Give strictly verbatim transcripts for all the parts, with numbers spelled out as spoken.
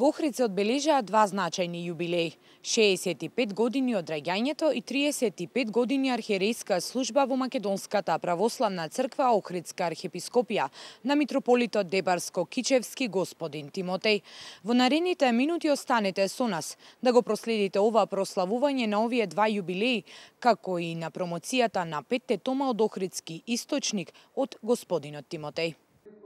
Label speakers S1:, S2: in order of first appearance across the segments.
S1: Во Охрид се одбележаа два значајни јубилеи – шеесет и пет години од раѓањето и триесет и пет години архиерејска служба во Македонската православна црква Охридска архиепископија на митрополитот Дебарско-Кичевски господин Тимотеј. Во наредните минути останете со нас да го проследите ова прославување на овие два јубилеи, како и на промоцијата на петте тома од Охридски источник од господинот Тимотеј.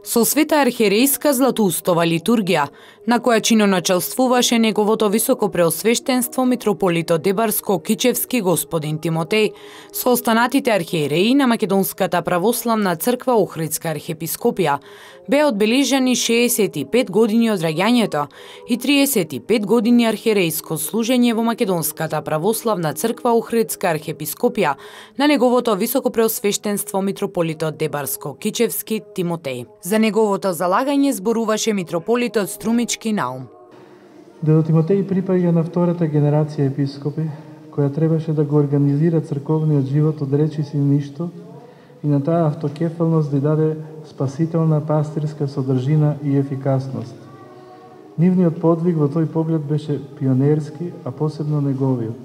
S1: Со света архиерејска златоустова литургија, на која чиноначелствуваше неговото високо преосвештенство митрополитот Дебарско-Кичевски господин Тимотеј, со останатите архиереи на Македонската православна црква Охридска архиепископија, беа одбележани шеесет и пет години од раѓањето и триесет и пет години архиерејско служење во Македонската православна црква Охридска архиепископија на неговото високо преосвештенство митрополитот Дебарско-Кичевски Тимотеј. За неговото залагање зборуваше митрополитот Струмички Наум.
S2: Дедо Тимотеј припаѓа на втората генерација епископи, која требаше да го организира црковниот живот од речиси ништо и на таа автокефалност да даде спасителна пастирска содржина и ефикасност. Нивниот подвиг во тој поглед беше пионерски, а посебно неговиот.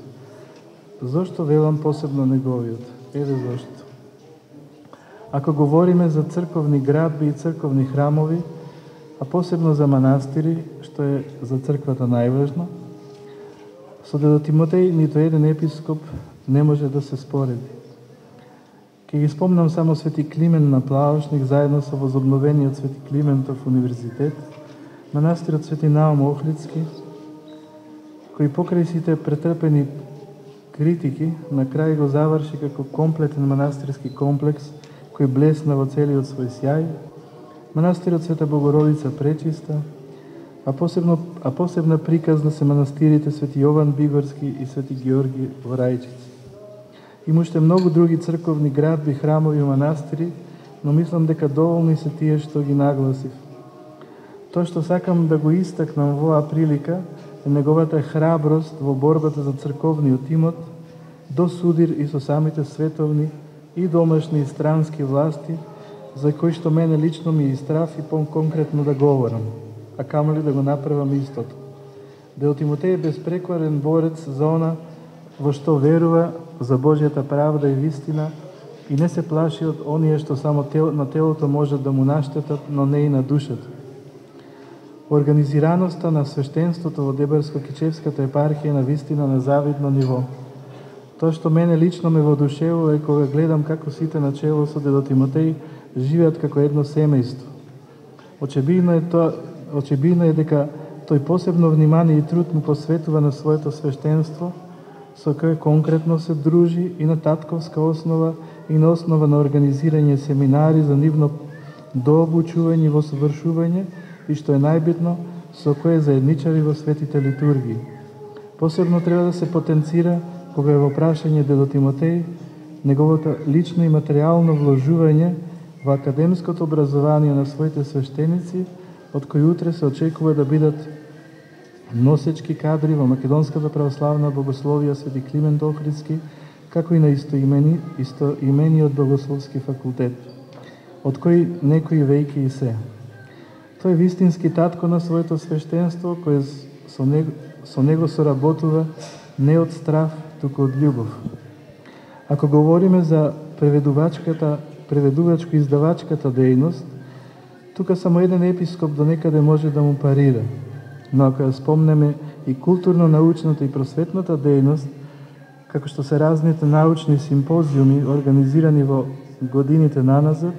S2: Зошто велам посебно неговиот? Еве зошто. Ако говориме за црковни градби и црковни храмови, а посебно за манастири, што е за црквата најважно, со дедо Тимотеј ниту еден епископ не може да се спореди. Ке ги спомнам само Свети Климен на Плавошник заедно со возобновениот Свети Климентов универзитет, манастирот Свети Наум Охридски, кој покрај сите претрпени критики на крај го заврши како комплетен манастирски комплекс кој блесна во целиот свој сјај, манастирот Света Богородица Пречиста, а посебно а посебна приказна се манастирите Свети Јован Бигорски и Свети Георги во Рајчици. Има уште многу други црковни градби, храмови и манастири, но мислам дека доволни се тие што ги нагласив. Тоа што сакам да го истакнам во оваа прилика е неговата храброст во борбата за црковниот имот, до судир и со самите световни и домашни и странски власти, за кои што мене лично ми истраф и по-конкретно да говорам, а камоли да го направам истото. Дедо Тимотеј е безпрекорен борец за она во што верува, за Божјата правда и вистина, и не се плаши од оние што само тел, на телото можат да му наштетат, но не и на душата. Организираноста на свештенството во Дебарско-Кичевската епархија на вистина на завидно ниво. Тоа што мене лично ме воодушевува е кога гледам како сите на чело со дедо Тимотеј живеат како едно семејство. Очебидно е тоа, очебидно е дека тој посебно внимание и труд му посветува на своето свештенство, со кое конкретно се дружи и на татковска основа и на основа на организирање семинари за нивно дообучување во совршување и што е најбитно, со кое заедничари во светите литургии. Посебно треба да се потенцира кога е во прашање дедо Тимотеј неговото лично и материјално вложување во академското образование на своите свештеници, од кои утре се очекува да бидат носечки кадри во Македонската православна богословија Свети Климент Охридски, како и на истоимени, истоимениот богословски факултет, од кои некои веќе и се. Тој е вистински татко на своето свештенство, кој со него, со него соработува не од страф, туку од љубов. Ако говориме за преведувачката, преведувачко-издавачката дејност, тука само еден епископ до некаде може да му парира. Но ако ја спомнеме и културно-научната и просветната дејност, како што се разните научни симпозиуми организирани во годините наназад,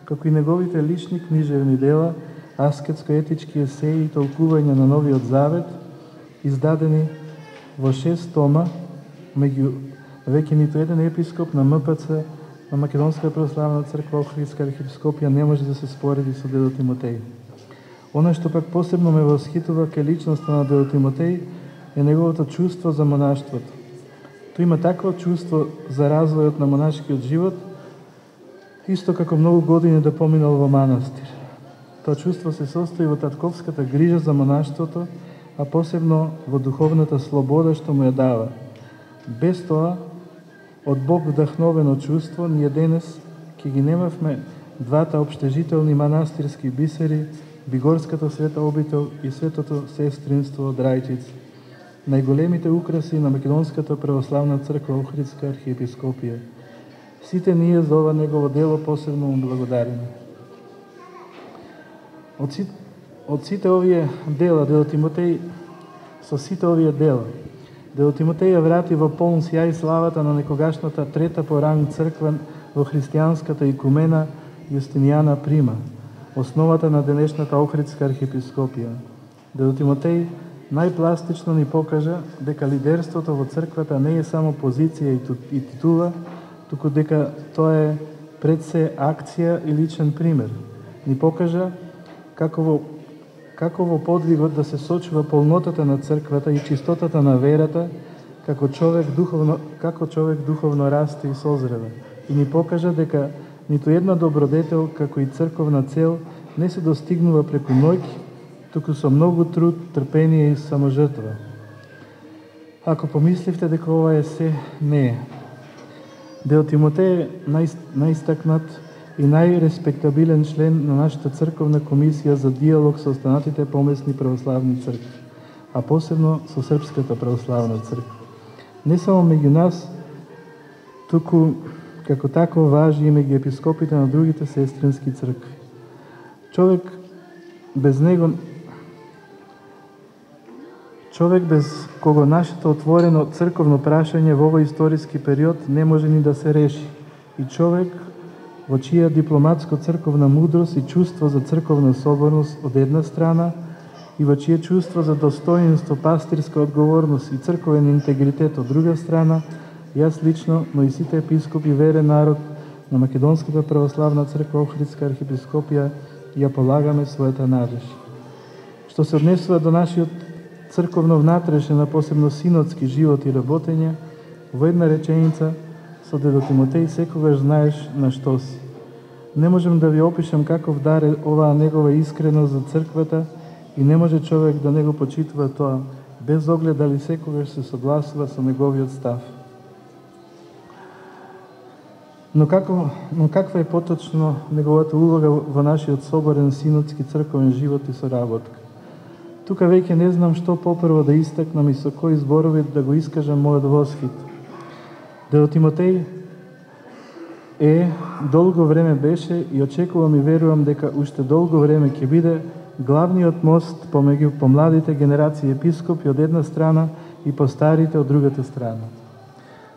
S2: како и неговите лични книжевни дела, аскетско-етички есеи и толкување на Новиот Завет, издадени во шест тома, меѓу веќе ниту еден епископ на М П Ц на Македонска православна црква Охридска архиепископија не може да се спореди со дедо Тимотеј. Она што пак посебно ме восхитува ке личноста на дедо Тимотеј е неговото чувство за монаштвото. Тој има такво чувство за развојот на монашкиот живот, исто како многу години да поминал во манастир. Тоа чувство се состои во татковската грижа за монаштвото, а посебно во духовната слобода што му ја дава. Без тоа, од Бог вдахновено чувство, ние денес ќе ги немавме двата општежителни манастирски бисери Бигорската света обител и светото сестринство од Рајчица, најголемите украси на Македонската православна црква Охридска архиепископија. Сите ние за ова негово дело посебно му благодариме. Од, си, од сите овие дела, Дел Тимотеј, со сите овие дела, Дел Тимотеј ја врати во полн сјај славата на некогашната трета по ранг црква во христијанската икумена Јустинијана Прима, основата на денешната Охридска архиепископија. Дел Тимотеј најпластично ни покажа дека лидерството во црквата не е само позиција и титула, туку дека тоа е пред се акција и личен пример. Ни покажа како во, како во подвигот да се сочува полнотата на црквата и чистотата на верата, како човек духовно, како човек духовно расте и созрева. И ни покажа дека ниту една добродетел, како и црковна цел, не се достигнува преку ноќ, туку со многу труд, трпение и саможртва. Ако помисливте дека ова е се, не е. Дел Тимотеј е нај, најстакнат и најреспектабилен член на нашата црковна комисија за диалог со останатите помесни православни цркви, а посебно со Српската православна црква. Не само меѓу нас, туку како тако важи и меѓу епископите на другите сестрински цркви. Човек без него Човек без кого нашето отворено црковно прашање во овој историски период не може ни да се реши. И човек во чија дипломатско-црковна мудрост и чувство за црковна соборност од една страна и во чие чувство за достоинство, пастирска одговорност и црковен интегритет од друга страна, јас лично, но и сите епископи верен народ на Македонската православна црква Охридска архиепископија ја полагаме својата надеж. Што се однесува до нашиот црковно внатрешен, а посебно синодски живот и работење, во една реченица, со Дедо Тимотеј секогаш знаеш на што си. Не можем да ви опишем каков дар е оваа негова искреност за црквата и не може човек да не го почитува тоа, без оглед дали секогаш се согласува со неговиот став. Но, како, но каква е поточно неговата улога во нашиот соборен синодски црковен живот и соработка? Тука веќе не знам што попрво да истакнам и со кои зборови да го искажам мојот восхит. Дедо Тимотеј е, долго време беше и очекувам и верувам дека уште долго време ќе биде главниот мост помеѓу помладите генерации епископи од една страна и постарите од другата страна.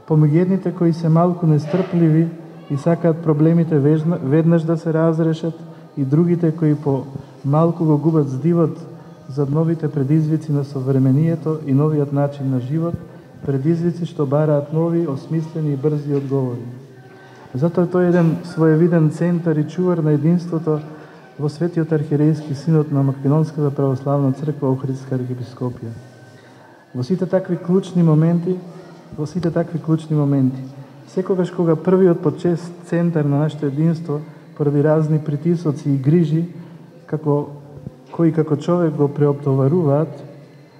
S2: Помеѓу едните кои се малку нестрпливи и сакаат проблемите веднаш да се разрешат и другите кои по малку го губат здивот за новите предизвици на современието и новиот начин на живот, предизвици што бараат нови, осмислени и брзи одговори. Затоа тој е еден своевиден центар и чувар на единството во Светиот архиерейски синод на Македонската православна црква Охридска архиепископија. Во сите такви клучни моменти, во сите такви клучни моменти, секогаш кога првиот почест центар на нашето единство, поради разни притисоци и грижи, како кои како човек го преоптоваруваат,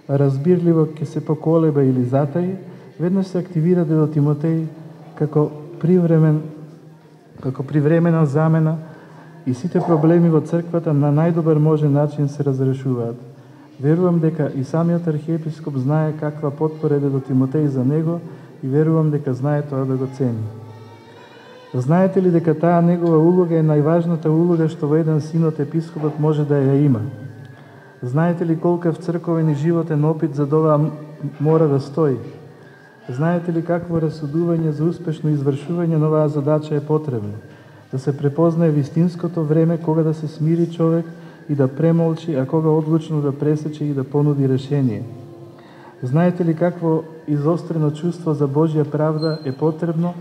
S2: разбирливо ќе се поколеба или затаи, веднаш се активира Дедо Тимотеј како привремен, како привремена замена и сите проблеми во црквата на најдобар можен начин се разрешуваат. Верувам дека и самиот архиепископ знае каква потпора е Дедо Тимотеј за него и верувам дека знае тоа да го цени. Знаете ли дека таа негова улога е најважната улога што во еден синод епископот може да ја има? Знаете ли колкав црковен и животен опит за ова мора да стои? Знаете ли какво расудување за успешно извршување на оваа задача е потребно? Да се препознае вистинското време кога да се смири човек и да премолчи, а кога одлучно да пресече и да понуди решение. Знаете ли какво изострено чувство за Божја правда е потребно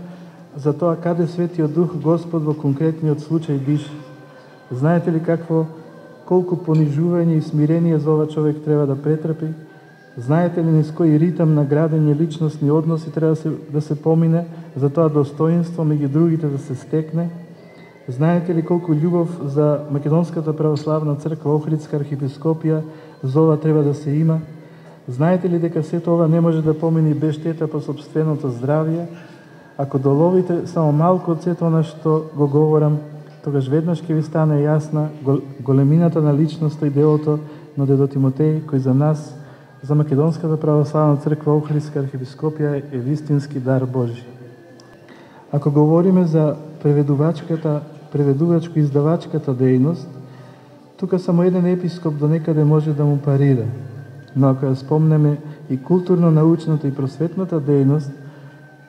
S2: за тоа каде Светиот Дух Господ во конкретниот случај диша? Знаете ли какво колку понижување и смирение за ова човек треба да претрпи? Знаете ли низ кој ритам на градење личностни односи треба да се, да се помине за тоа достоинство меѓу другите да се стекне? Знаете ли колку љубов за Македонската православна црква Охридска архиепископија за ова треба да се има? Знаете ли дека сето ова не може да помине без штета по собственото здравје? Ако доловите само малку од сето она што го говорам, тогаш веднаш ќе ви стане јасна големината на личноста и делото на дедо Тимотеј, кој за нас, за Македонската православна црква Охридска архиепископија е вистински дар Божи. Ако говориме за преведувачката, преведувачко-издавачката дејност, тука само еден епископ до некаде може да му парира. Но ако ја спомнеме и културно-научната и просветната дејност,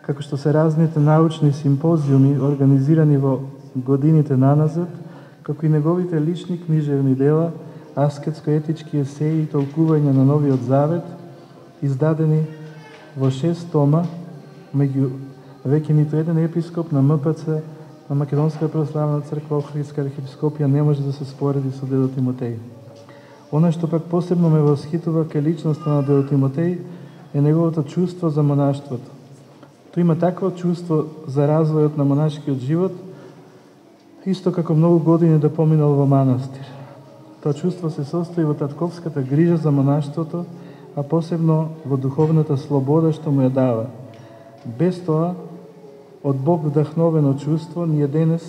S2: како што се разните научни симпозиуми организирани во годините наназад, како и неговите лични книжевни дела, аскетско-етички есеи и толкување на Новиот Завет, издадени во шест тома, меѓу веќе ниту еден епископ на М П Ц, на Македонска православна црква Охридска архиепископија не може да се спореди со дедо Тимотеј. Она што пак посебно ме восхитува кај личноста на дедо Тимотеј е неговото чувство за монаштвото. Тој има такво чувство за развојот на монашкиот живот, исто како многу години да поминал во манастир. Тоа чувство се состои во татковската грижа за монаштвото, а посебно во духовната слобода што му ја дава. Без тоа, од Бог вдахновено чувство, ние денес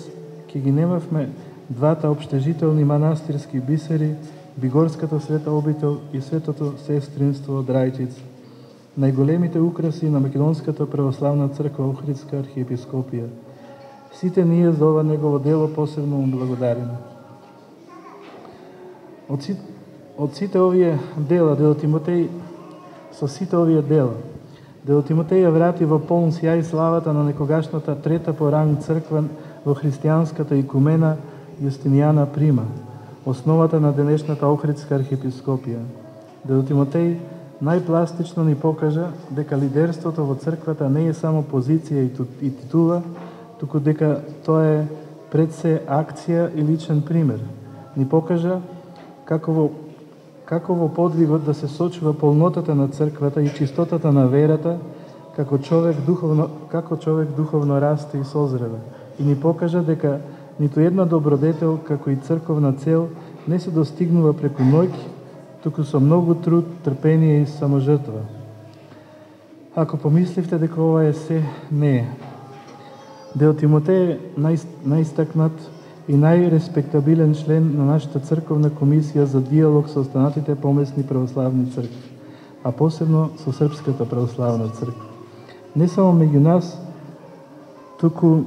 S2: ќе ги немавме двата обштежителни манастирски бисери, Бигорската света обител и Светото сестринство од Рајчица, најголемите украси на Македонската православна црква Охридска архиепископија. Сите ние за ова негово дело посебно му благодариме. Од, си, од сите овие дела, дедо Тимотеј, со сите овие дела, дедо Тимотеј ја врати во полн сјај славата на некогашната трета по ранг црква во христијанската икумена Јустинијана Прима, основата на денешната Охридска архиепископија. Дедо Тимотеј најпластично ни покажа дека лидерството во црквата не е само позиција и титула, туку дека тоа е пред се акција и личен пример. Ни покажа како во, како во подвигот да се сочува полнотата на црквата и чистотата на верата, како човек духовно, како човек духовно расте и созрева. И ни покажа дека ниту една добродетел, како и црковна цел, не се достигнува преку ноќ, туку со многу труд, трпение и саможртва. Ако помисливте дека ова е се, не е. Дедо Тимотеј е нај, најстакнат и најреспектабилен член на нашата црковна комисија за диалог со останатите помесни православни цркви, а посебно со Српската православна црква. Не само меѓу нас, туку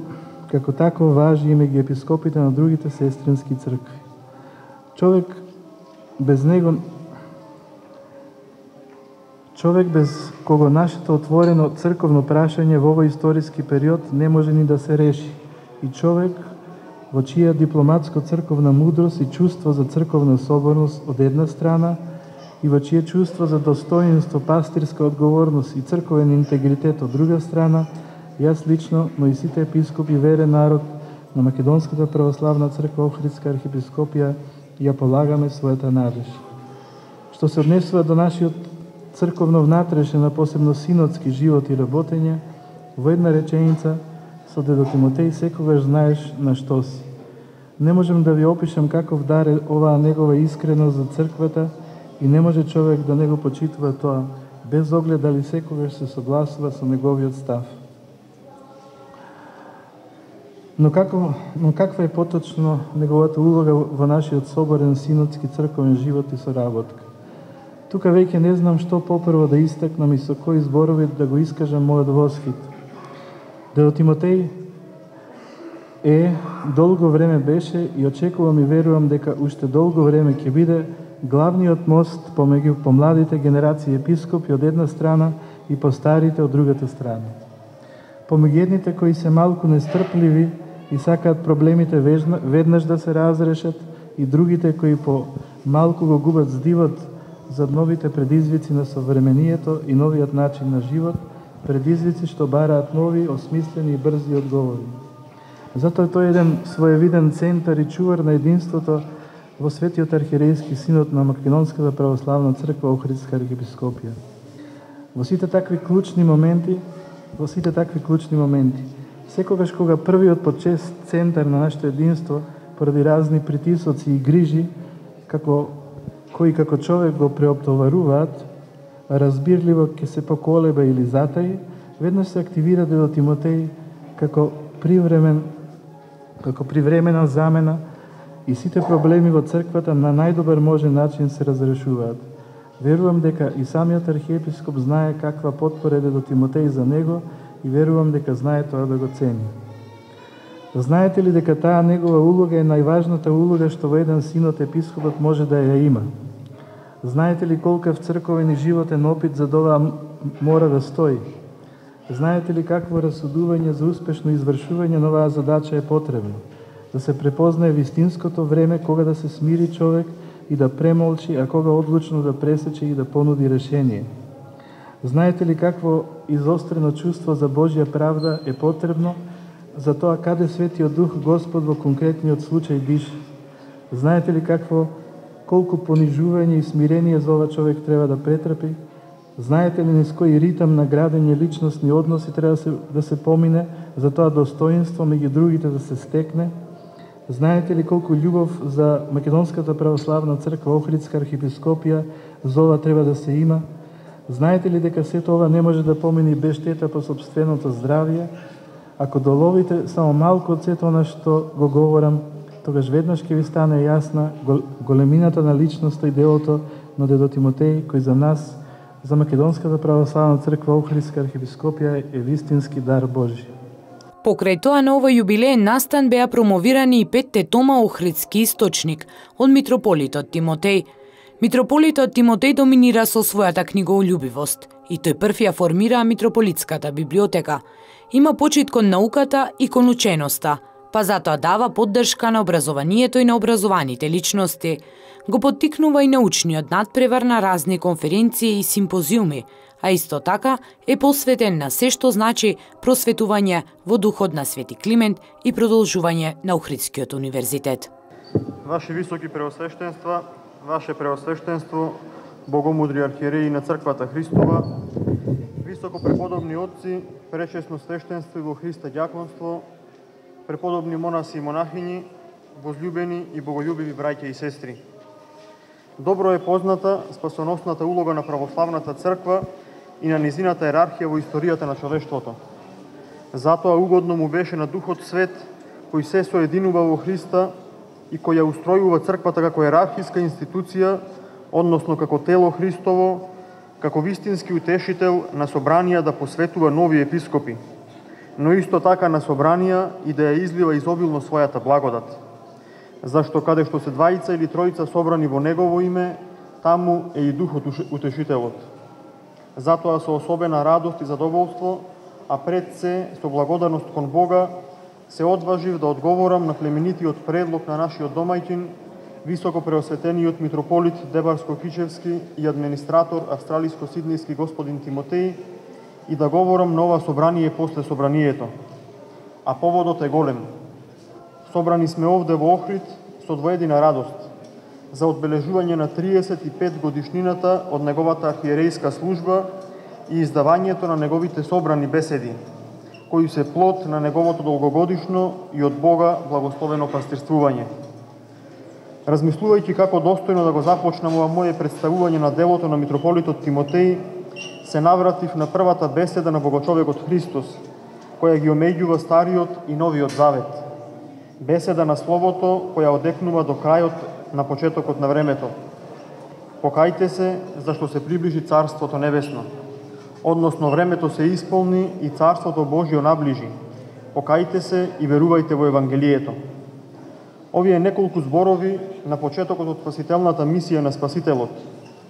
S2: како тако важи и меѓу епископите на другите сестрински цркви. Човек без него Човек без кого нашето отворено црковно прашање во овој историски период не може ни да се реши. И човек во чија дипломатско-црковна мудрост и чувство за црковна соборност од една страна и во чие чувство за достоинство, пастирска одговорност и црковен интегритет од друга страна, јас лично, но и сите епископи верен народ на Македонската православна црква Охридска архиепископија ја полагаме својата надеж. Што се однесува до нашиот црковно внатрешен, а посебно синодски живот и работење, во една реченица, со дедо Тимотеј секогаш знаеш на што си. Не можем да ви опишем каков дар е оваа негова искреност за црквата и не може човек да не го почитува тоа, без оглед дали секогаш се согласува со неговиот став. Но, како, но каква е поточно неговата улога во нашиот соборен синодски црковен живот и соработка? Тука веќе не знам што попрво да истакнам и со кои зборови да го искажам мојот восхит. Дедо Тимотеј е, долго време беше и очекувам и верувам дека уште долго време ќе биде главниот мост помеѓу помладите генерации епископи од една страна и постарите од другата страна. Помеѓу едните кои се малку нестрпливи и сакаат проблемите веднаш да се разрешат и другите кои по малку го губат здивот за новите предизвици на современието и новиот начин на живот, предизвици што бараат нови, осмислени и брзи одговори. Затоа тој е еден своевиден центар и чувар на единството во Светиот архиерејски синод на Македонската православна црква Охридска архиепископија. Во сите такви клучни моменти, во сите такви клучни моменти, секогаш кога првиот почест центар на нашето единство, поради разни притисоци и грижи, како кои како човек го преоптоваруваат, разбирливо ќе се поколеба или затаи, веднаш се активира дедо Тимотеј како привремен како привремена замена и сите проблеми во црквата на најдобар можен начин се разрешуваат. Верувам дека и самиот архиепископ знае каква потпора е до Тимотеј за него и верувам дека знае тоа да го цени. Знаете ли дека таа негова улога е најважната улога што во еден синот епископот може да ја има? Знаете ли колкав црковен и животен опит за ова мора да стои? Знаете ли какво расудување за успешно извршување на оваа задача е потребно? Да се препознае вистинското време кога да се смири човек и да премолчи, а кога одлучно да пресече и да понуди решение. Знаете ли какво изострено чувство за Божја правда е потребно за тоа каде Светиот Дух Господ во конкретниот случај дише? Знаете ли какво колку понижување и смирение за ова човек треба да претрпи? Знаете ли низ кој ритам на градење личностни односи треба да се, да се помине за тоа достоинство меѓу другите да се стекне? Знаете ли колку љубов за Македонската православна црква Охридска архиепископија за ова треба да се има? Знаете ли дека сето ова не може да помине без штета по собственото здравје? Ако доловите само малку од сето она што го говорам, тогаш веднаш ќе ви стане јасна големината на личноста и делото на дедо Тимотеј, кој за нас, за Македонската православна црква Охридска архиепископија е вистински дар Божи.
S1: Покрај тоа на овој јубилеен настан беа промовирани и петте тома Охридски источник од митрополитот Тимотеј. Митрополитот Тимотеј доминира со својата книгољубивост и тој прв ја формира митрополитската библиотека. Има почит кон науката и кон ученоста, па затоа дава поддршка на образованието и на образованите личности. Го поттикнува и научниот надпревар на разни конференции и симпозиуми, а исто така е посветен на се што значи просветување во духот на Свети Климент и продолжување на Охридскиот универзитет.
S3: Ваши високи преосвештенства, Ваше преосвештенство, богомудри архиереи на Црквата Христова, високо преподобни отци, пречесно свештенство и во Христа ѓаконство, преподобни монаси и монахини, возлюбени и боголюбиви браќа и сестри. Добро е позната спасоносната улога на православната црква и на низината ерархија во историјата на човештвото. Затоа угодно му беше на Духот Свет, кој се соединува во Христа и кој ја устројува црквата како ерархиска институција, односно како тело Христово, како вистински утешител на собранија да посветува нови епископи, но исто така на собранија и да ја излива изобилно својата благодат. Зашто каде што се двајца или тројца собрани во Негово име, таму е и Духот Утешителот. Затоа со особена радост и задоволство, а пред се со благодарност кон Бога, се одважив да одговорам на племенитиот предлог на нашиот домајчин, високо преосветениот митрополит Дебарско-Кичевски и администратор австралиско-сиднејски господин Тимотеј и да говорам на ова собрание после собранието. А поводот е голем. Собрани сме овде во Охрид со двоедина радост за одбележување на триесет и пет годишнината од неговата архиерејска служба и издавањето на неговите собрани беседи, кои се плод на неговото долгогодишно и од Бога благословено пастирствување. Размислувајќи како достојно да го започнам ова моје представување на делото на митрополитот Тимотеј, се навратив на првата беседа на Богочовекот Христос, која ги омеѓува Стариот и Новиот Завет. Беседа на Словото, која одекнува до крајот на почетокот на времето. Покајте се, зашто се приближи Царството Небесно. Односно, времето се исполни и Царството Божјо наближи. Покајте се и верувајте во Евангелието. Овие неколку зборови на почетокот од спасителната мисија на Спасителот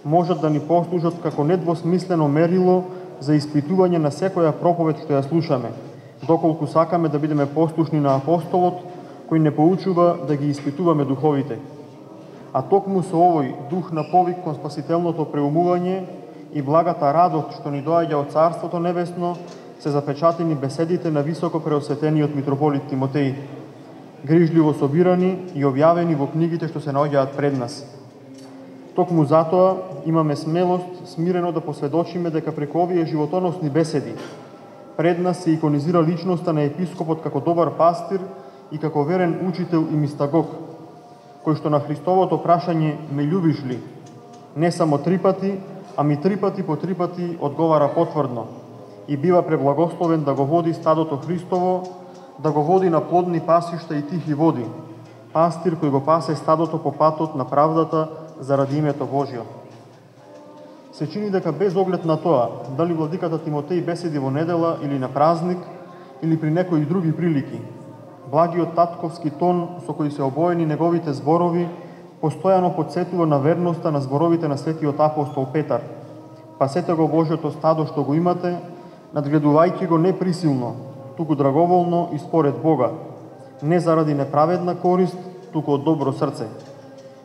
S3: можат да ни послужат како недвосмислено мерило за испитување на секоја проповед што ја слушаме, доколку сакаме да бидеме послушни на апостолот, кој не поучува да ги испитуваме духовите. А токму со овој дух на повик кон спасителното преумување и благата радост што ни доаѓа од Царството Небесно, се запечатени беседите на високо преосветениот митрополит Тимотеј, грижливо собирани и објавени во книгите што се наоѓаат пред нас. Токму затоа имаме смелост смирено да посведочиме дека преку овие животоносни беседи пред нас се иконизира личноста на епископот како добар пастир и како верен учител и мистагог, кој што на Христовото прашање "Ме љубиш ли?" не само три пати, ами три пати по три пати одговара потврдно и бива преблагословен да го води стадото Христово, да го води на плодни пасишта и тихи води, пастир кој го пасе стадото по патот на правдата заради името Божјо. Се чини дека без оглед на тоа, дали владиката Тимотеј беседи во недела или на празник, или при некои други прилики, благиот татковски тон со кој се обоени неговите зборови постојано потсетува на верноста на зборовите на светиот апостол Петар. Пасете го Божјото стадо што го имате, надгледувајќи го не присилно, туку драговолно и според Бога, не заради неправедна корист, туку од добро срце.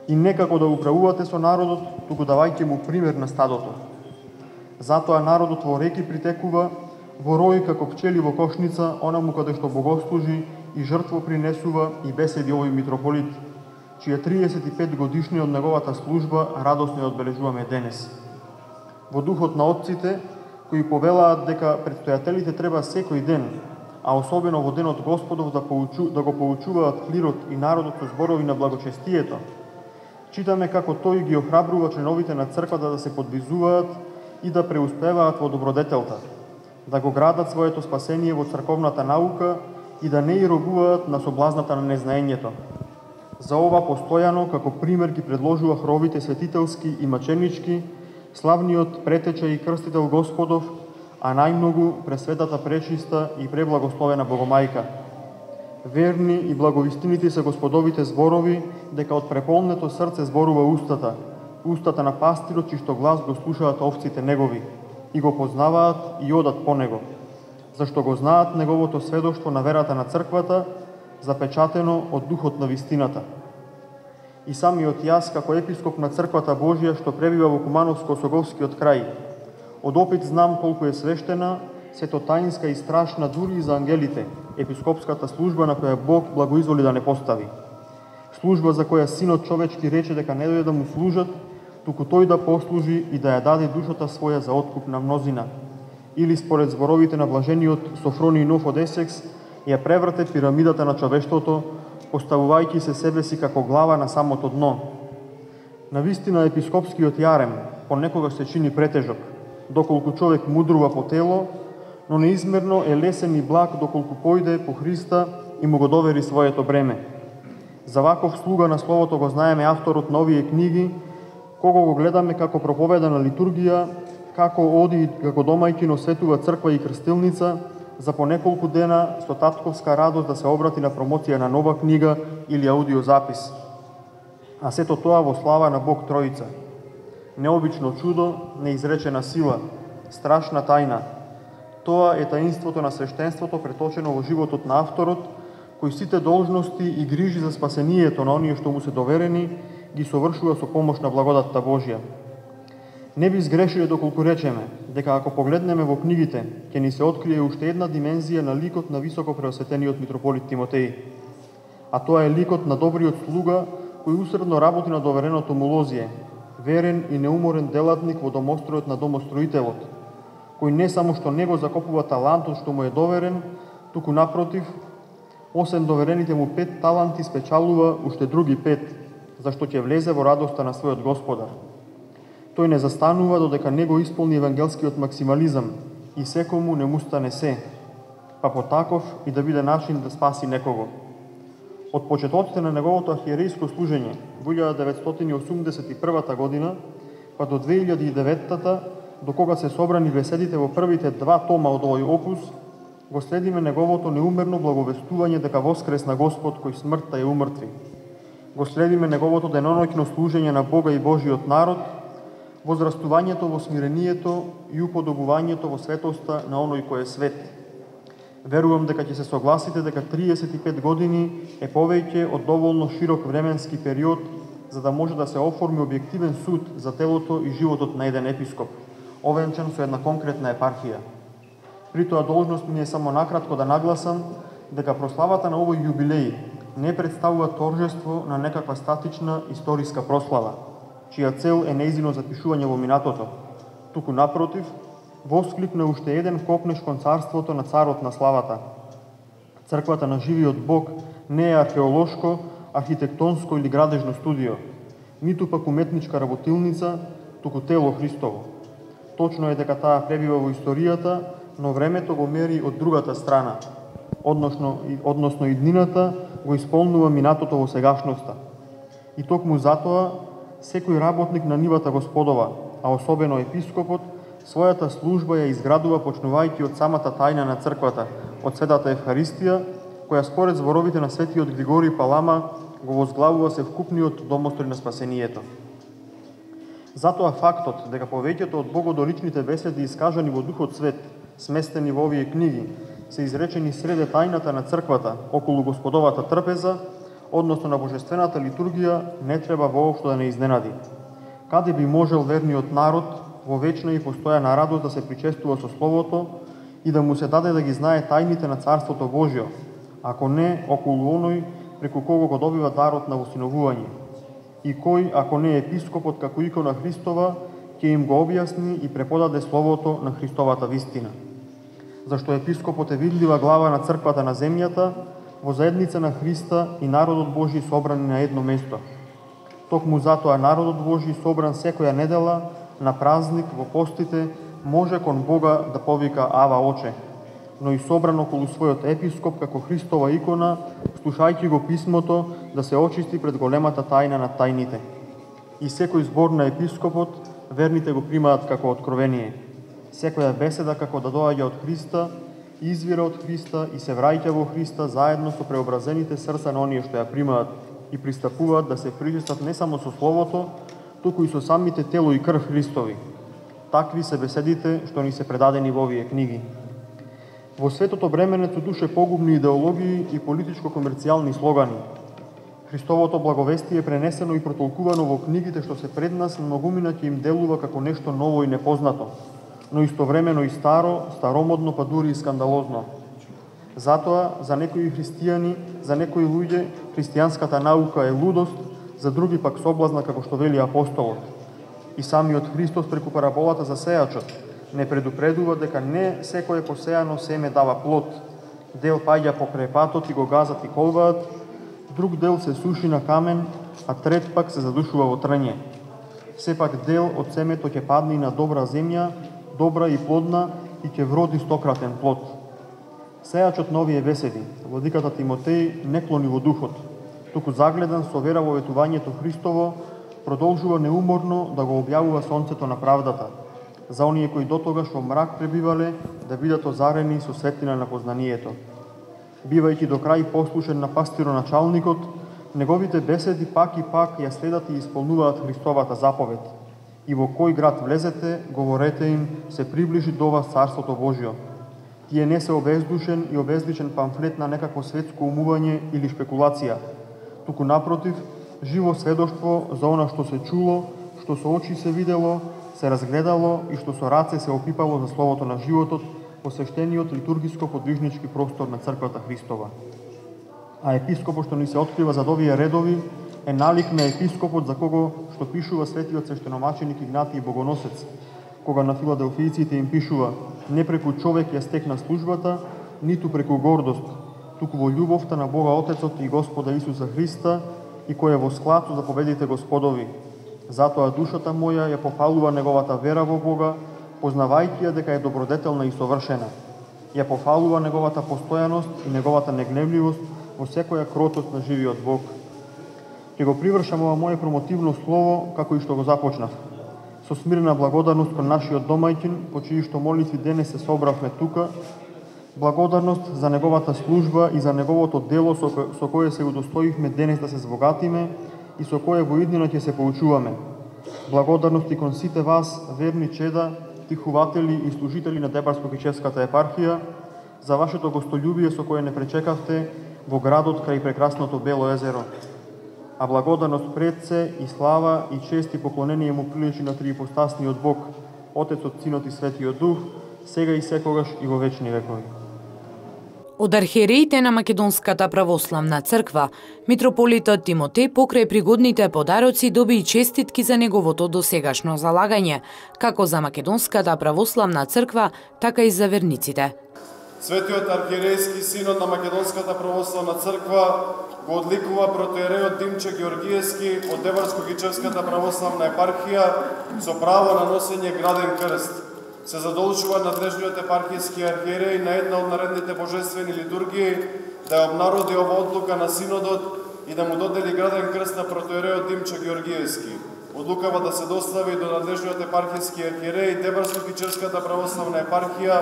S3: И некако да управувате со народот, туку давајќи му пример на стадото. Затоа народот во реки притекува, во рој како пчели во кошница, онаму каде што богослужи и жртво принесува и беседи овој митрополит, чија триесет и пет годишни од неговата служба радосно ја одбележуваме денес. Во духот на отците, кои повелаат дека предстојателите треба секој ден, а особено во денот Господов да, поучу, да го поучуваат клирот и народот со зборови на благочестието, читаме како тој ги охрабрува членовите на црквата да се подвизуваат и да преуспеваат во добродетелта, да го градат своето спасение во црковната наука и да не и робуваат на соблазната на незнаењето. За ова постојано како пример ги предложува хровите светителски и маченички, славниот претеча и крстител Господов, а најмногу пресветата пречиста и преблагословена Богомајка. Верни и благовистинити се Господовите зборови, дека од преполнето срце зборува устата, устата на пастирот, чиј што глас го слушаат овците негови, и го познаваат и одат по него, зашто го знаат неговото сведоштво на верата на црквата, запечатено од духот на вистината. И самиот јас, како епископ на црквата Божја, што пребива во Кумановско-Осоговскиот крај, од опит знам колку е свештена, сето таинска и страшна дури и за ангелите, епископската служба на која Бог благоизволи да не постави. Служба за која Синот човечки рече дека не дојде да му служат, туку тој да послужи и да ја даде душата своја за откуп на мнозина. Или според зборовите на блажениот Софрони Нов од Есекс, ја преврте пирамидата на човештвото, поставувајќи се себе си како глава на самото дно. Навистина епископскиот јарем понекогаш се чини претежок, доколку човек мудрува по тело, но неизмерно е лесен и благ доколку појде по Христа и му го довери своето бреме. За ваков слуга на Словото го знаеме авторот на овие книги, кого го гледаме како проповеда на литургија, како оди како домајќин осветува црква и крстилница, за по неколку дена со татковска радост да се обрати на промоција на нова книга или аудиозапис. А сето тоа во слава на Бог Троица. Необично чудо, неизречена сила, страшна тајна. Тоа е таинството на свештенството преточено во животот на авторот, кој сите должности и грижи за спасението на оние што му се доверени ги совршува со помош на благодатта Божја. Не би сгрешиле доколку речеме дека ако погледнеме во книгите, ќе ни се открие уште една димензија на ликот на високо преосветениот митрополит Тимотеј. А тоа е ликот на добриот слуга кој усредно работи на довереното му лозие, верен и неуморен делатник во домостројот на домостроителот, кој не само што не го закопува талантот што му е доверен, туку напротив, освен доверените му пет таланти спечалува уште други пет, зашто ќе влезе во радоста на својот Господар. Тој не застанува додека не го исполни евангелскиот максимализам и секому не му стане се, па потаков и да биде начин да спаси некого. Од почетоците на неговото архиерејско служење во илјада деветстотини осумдесет и прва година, па до две илјади и девета, до кога се собрани беседите во првите два тома од овој опус, го следиме неговото неумерно благовестување дека воскресна Господ кој смртта ја умртви. Го следиме неговото деноноќно служење на Бога и Божиот народ, возрастувањето во смирението и уподобувањето во светоста на оној кој е свет. Верувам дека ќе се согласите дека триесет и пет години е повеќе од доволно широк временски период за да може да се оформи објективен суд за телото и животот на еден епископ, овенчан со една конкретна епархија. При тоа должност ми е само накратко да нагласам дека прославата на овој јубилеј не представува торжество на некаква статична историска прослава, чија цел е нејзино запишување во минатото, туку напротив, восклик на уште еден копнеш кон царството на царот на славата. Црквата на живиот Бог не е археолошко, архитектонско или градежно студио, ниту пак уметничка работилница, туку тело Христово. Точно е дека таа пребива во историјата, но времето го мери од другата страна. односно, односно иднината го исполнува минатото во сегашноста. И токму затоа, секој работник на нивата Господова, а особено епископот, својата служба ја изградува почнувајќи од самата тајна на црквата, од Светата Евхаристија, која според зборовите на светиот Григорий Палама го возглавува севкупниот домострој на спасението. Затоа фактот дека повеќето од богодоличните беседи искажани во Духот Свет, сместени во овие книги, се изречени среде тајната на црквата, околу Господовата трпеза, односно на божествената литургија, не треба воопшто да не изненади. Каде би можел верниот народ во вечна и постојана радост да се причестува со Словото и да му се даде да ги знае тајните на Царството Божјо, ако не околу оној преку кого го добива дарот на восиновување? И кој, ако не епископот како икона Христова, ќе им го објасни и преподаде Словото на Христовата вистина? Зашто епископот е видлива глава на црквата на земјата, во заедница на Христа и народот Божи собрани на едно место. Токму затоа народот Божи собран секоја недела, на празник, во постите, може кон Бога да повика Ава Оче, но и собран околу својот епископ како Христова икона, слушајќи го писмото, да се очисти пред големата тајна на тајните. И секој збор на епископот, верните го примаат како откровение. Секоја беседа како да доаѓа од Христа, извира од Христа и се враќа во Христа заедно со преобразените срца на оние што ја примаат и пристапуваат да се причестат не само со Словото, туку и со самите тело и крв Христови. Такви се беседите што ни се предадени во овие книги. Во светото бременето душе погубни идеологии и политичко-комерцијални слогани. Христовото благовестие е пренесено и протолкувано во книгите што се пред нас, многумина ќе им делува како нешто ново и непознато, но истовремено и старо, старомодно, па дури и скандалозно. Затоа, за некои христијани, за некои луѓе, христијанската наука е лудост, за други пак соблазна, како што вели апостолот. И самиот Христос преку параболата за сејачот не предупредува дека не секое посејано семе дава плод. Дел паѓа покрај патот и го газат и колваат, друг дел се суши на камен, а трет пак се задушува во трње. Сепак дел од семето ќе падне и на добра земја, добра и плодна, и ќе вроди стократен плод. Сејачот на овие беседи, владиката Тимотеј, не клони во духот, туку загледан со вера во ветувањето Христово, продолжува неуморно да го објавува сонцето на правдата, за оние кои дотогаш во мрак пребивале, да бидат озарени со светлина на познанието. Бивајќи до крај послушен на пастироначалникот, неговите беседи пак и пак ја следат и исполнуваат Христовата заповед. И во кој град влезете, говорете им, се приближи до вас Царството Божјо. Тие не се обездушен и обезличен памфлет на некакво светско умување или шпекулација, туку напротив, живо сведоштво за она што се чуло, што со очи се видело, се разгледало и што со раце се опипало за словото на животот во свештениот литургиско-подвижнички простор на Црквата Христова. А епископот што ни се открива зад овие редови е налик на епископот за кого што пишува светиот свештеномаченик Игнатиј Богоносец, кога на филаделфијците им пишува: не преку човек ја стекна службата, ниту преку гордост, туку во љубовта на Бога Отецот и Господа Исуса Христа, и кој е во склад со заповедите Господови. Затоа душата моја ја пофалува неговата вера во Бога, познавајќи ја дека е добродетелна и совршена. Ја пофалува неговата постојаност и неговата негневливост во секоја кротост на живиот Бог. Ќе го привршам ова моје промотивно слово, како и што го започнав, со смирена благодарност кон нашиот домајчин, по чии што молитви денес се собравме тука, благодарност за неговата служба и за неговото дело со, ко... со кое се удостоивме денес да се збогатиме и со кое во иднина ќе се поучуваме. Благодарност и кон сите вас, верни чеда, тихуватели и служители на Тепарско-Кичевската епархија, за вашето гостолюбие со кое не пречекавте во градот крај прекрасното Бело езеро. А благодарност пред се и слава и чест и поклонение му приличи на триипостасниот Бог, Отецот, Синот и Светиот Дух, сега и секогаш и во вечни векови.
S1: Од архиереите на Македонската православна црква, митрополитот Тимотеј покрај пригодните подароци доби и честитки за неговото досегашно залагање, како за Македонската православна црква, така и за верниците.
S4: Светиот архиерејски синод на Македонската православна црква го одликува протоиерејот Димче Георгиевски од Тепарско-Кичевската православна епархија со право на носење граден крст. се задолжува надлежниот епархијски архиереј на една од наредните божествени литургии да ја обнароди ова одлука на синодот и да му додели граден крст на протоиерејот Димчо Георгиевски. Одлукава да се достави до надлежниот епархијски архиереј, Дебарско-Кичевската православна епархија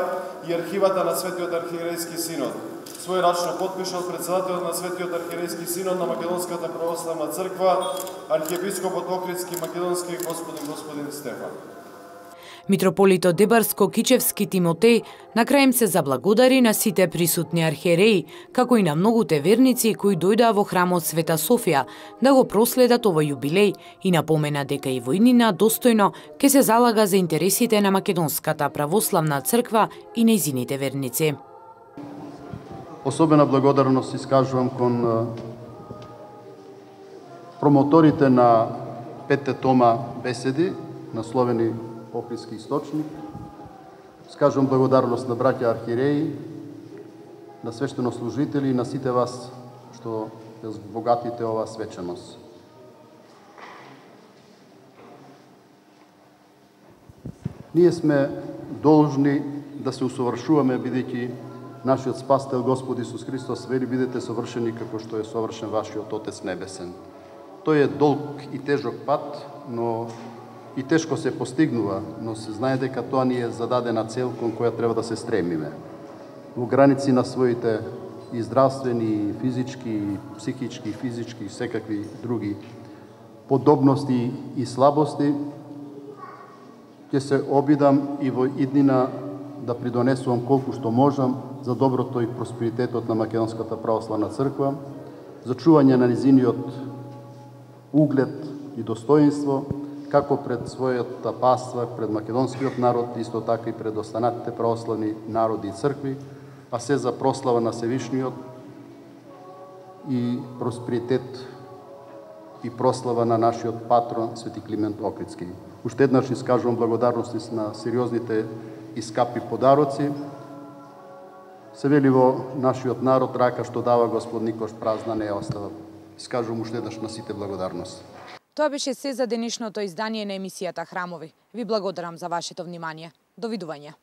S4: и архивата на Светиот архиерејски синод. Својрачно подпишал председателот на Светиот архиерејски синод на Македонската православна црква, архиепископот Охридски македонски господин господин Стефан.
S1: Митрополитот Дебарско-Кичевски Тимотеј на крај им се заблагодари на сите присутни архиереи, како и на многуте верници кои дојдоа во храмот Света Софија да го проследат овој јубилеј и напомена дека и во иднина достојно ќе се залага за интересите на Македонската православна црква и нејзините верници.
S5: Особена благодарност искажувам кон промоторите на петте тома беседи, насловени Охридски источник. Скажувам благодарност на браќа архиереи, на свештенослужители и на сите вас што ја збогатите оваа свеченост. Ние сме должни да се усовршуваме, бидејќи нашиот Спасител Господ Исус Христос вели: бидете совршени како што е совршен вашиот Отец Небесен. Тој е долг и тежок пат, но и тешко се постигнува, но се знае дека тоа ни е зададена цел кон која треба да се стремиме. Во граници на своите и здравствени, и физички, и психички, и физички, и секакви други подобности и слабости, ќе се обидам и во иднина да придонесувам колку што можам за доброто и просперитетот на Македонската православна црква, за чување на низиниот углед и достоинство, како пред својата паства, пред македонскиот народ, исто така и пред останатите православни народи и цркви, а се за прослава на Севишниот и просперитет и прослава на нашиот патрон Свети Климент Охридски. Уште еднаш искажувам благодарности на сериозните и скапи подароци. Се вели во нашиот народ: рака што дава Господ никош празна не ја остава. Искажувам уште еднаш на сите благодарност.
S1: Тоа беше се за денешното издание на емисијата Храмови. Ви благодарам за вашето внимание. Довидување.